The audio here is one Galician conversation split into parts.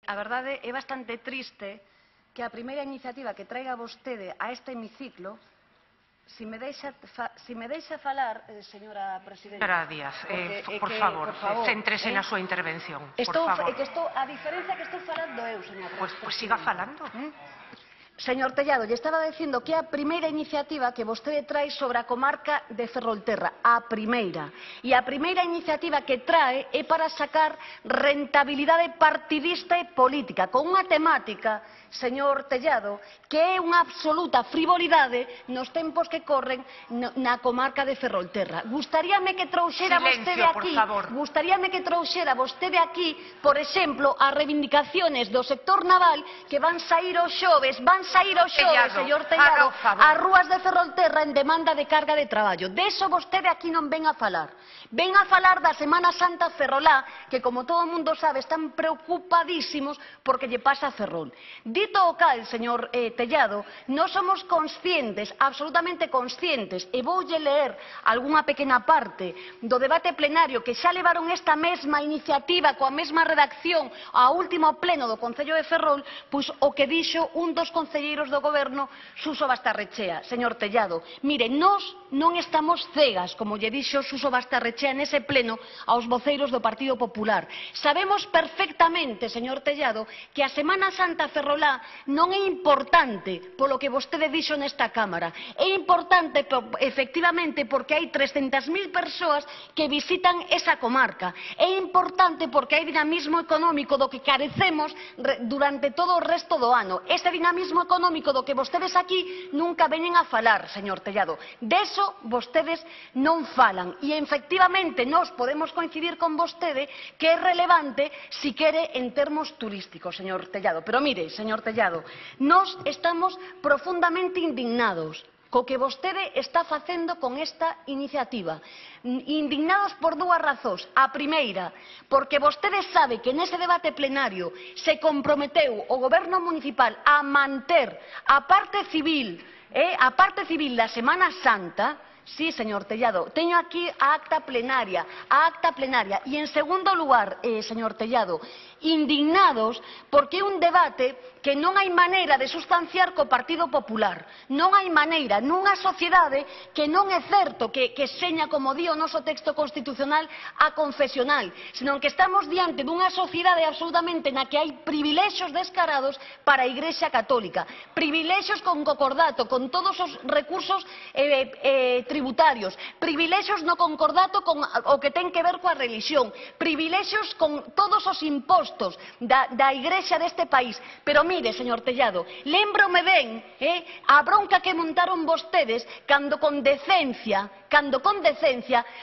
a verdade é bastante triste que a primeira iniciativa que traiga vostede a este hemiciclo, si me deixa falar, señora presidenta... Señora Díaz, por favor, céntrese na súa intervención, por favor. A diferencia que estou falando eu, señora presidenta. Pues siga falando. Señor Tellado, lle estaba dicindo que é a primeira iniciativa que vostede trae sobre a comarca de Ferrolterra, a primeira. E a primeira iniciativa que trae é para sacar rentabilidade partidista e política, con unha temática, señor Tellado, que é unha absoluta frivolidade nos tempos que corren na comarca de Ferrolterra. Gustaríame que trouxera vostede aquí, por exemplo, as reivindicaciones do sector naval que van saír os xoves, señor Tellado, ás rúas de Ferrolterra en demanda de carga de traballo. De iso vostede aquí non ven a falar. Ven a falar da Semana Santa ferrolá, que, como todo o mundo sabe, están preocupadísimos porque lle pasa a Ferrol. Dito o cal, señor Tellado, non somos conscientes, absolutamente conscientes, e voulle ler algunha pequena parte do debate plenario que xa levaron esta mesma iniciativa coa mesma redacción ao último pleno do Concello de Ferrol, pois o que dixo un dos concelleiros do Goberno, Suso Bastarrechea. Señor Tellado, mire, nós non estamos cegas, como lle dixo Suso Bastarrechea nese pleno aos voceiros do Partido Popular. Sabemos perfectamente, señor Tellado, que a Semana Santa ferrolá non é importante polo que vostede dixo nesta Cámara. É importante, efectivamente, porque hai 300.000 persoas que visitan esa comarca. É importante porque hai dinamismo económico do que carecemos durante todo o resto do ano. Ese dinamismo económico do que vostedes aquí nunca veñen a falar, señor Tellado. Deso vostedes non falan. E, efectivamente, nós podemos coincidir con vostede que é relevante si quere en termos turísticos, señor Tellado. Pero mire, señor Tellado, nós estamos profundamente indignados co que vostede está facendo con esta iniciativa. Indignados por dúas razóns. A primeira, porque vostede sabe que nese debate plenario se comprometeu o Goberno municipal a manter a parte civil da Semana Santa. Sí, señor Tellado, teño aquí a acta plenaria. E, en segundo lugar, señor Tellado, indignados porque é un debate que non hai maneira de sustanciar co Partido Popular. Non hai maneira, nunha sociedade que non é certo que seña, como di o noso texto constitucional, a confesional, senón que estamos diante dunha sociedade absolutamente na que hai privilexios descarados para a Igrexa Católica, privilexios con concordato, con todos os recursos tributarios, privilexios no concordato con o que ten que ver coa religión, privilexios con todos os impostos da Igrexa deste país. Pero mire, señor Tellado, lembrome ben a bronca que montaron vostedes cando con decencia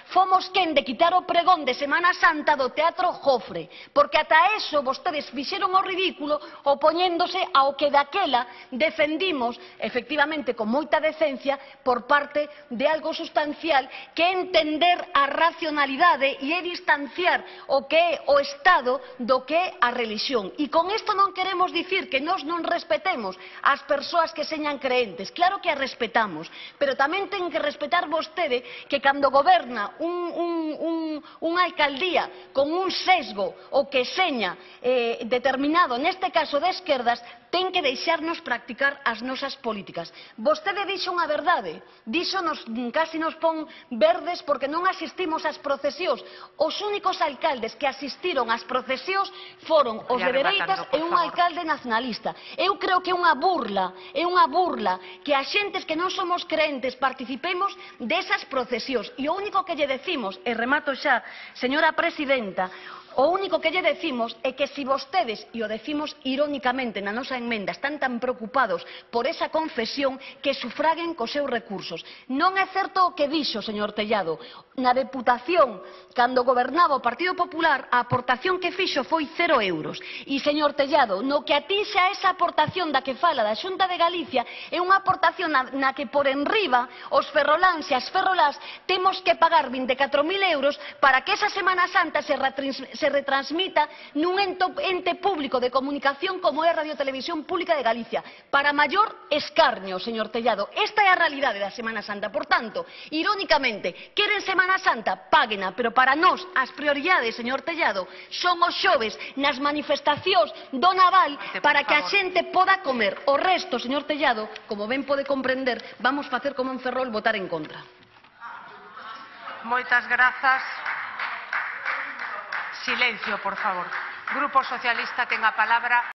fomos quen de quitar o pregón de Semana Santa do Teatro Jofre, porque ata eso vostedes fixeron o ridículo opoñéndose ao que daquela defendimos, efectivamente, con moita decencia, por parte de algo sustancial que é entender a racionalidade e é distanciar o que é o Estado do que é a religión. E con isto non queremos dicir que nós non respetemos as persoas que señan creentes. Claro que as respetamos, pero tamén ten que respetar vostede que cando goberna unha alcaldía con un sesgo o que seña determinado, neste caso de esquerdas, ten que deixarnos practicar as nosas políticas. Vostede dixo unha verdade, casi nos pon verdes porque non asistimos ás procesións. Os únicos alcaldes que asistiron ás procesións foron os de dereitas e un alcalde nacionalista. Eu creo que é unha burla que a xentes que non somos creentes participemos desas procesións. E o único que lle decimos, e remato xa, señora presidenta, o único que lle decimos é que se vostedes, e o decimos irónicamente na nosa emenda, están tan preocupados por esa confesión, que sufraguen cos seus recursos. Non é certo o que dixo, señor Tellado. Na Deputación, cando gobernaba o Partido Popular, a aportación que fixo foi 0 euros. E, señor Tellado, no que atixa esa aportación da que fala da Xunta de Galicia, é unha aportación na que por enriba os ferroláns e as ferrolás temos que pagar 24.000 euros para que esa Semana Santa se retransmita nun ente público de comunicación como é a Radiotelevisión Pública de Galicia, para maior escarnio, señor Tellado. Esta é a realidade da Semana Santa. Por tanto, irónicamente, queren Semana Semana Santa, páguena, pero para nós as prioridades, señor Tellado, son os xoves nas manifestacións do naval para que a xente poda comer. O resto, señor Tellado, como ben pode comprender, vamos facer como en Ferrol, votar en contra. Moitas grazas. Silencio, por favor. Grupo Socialista ten a palabra.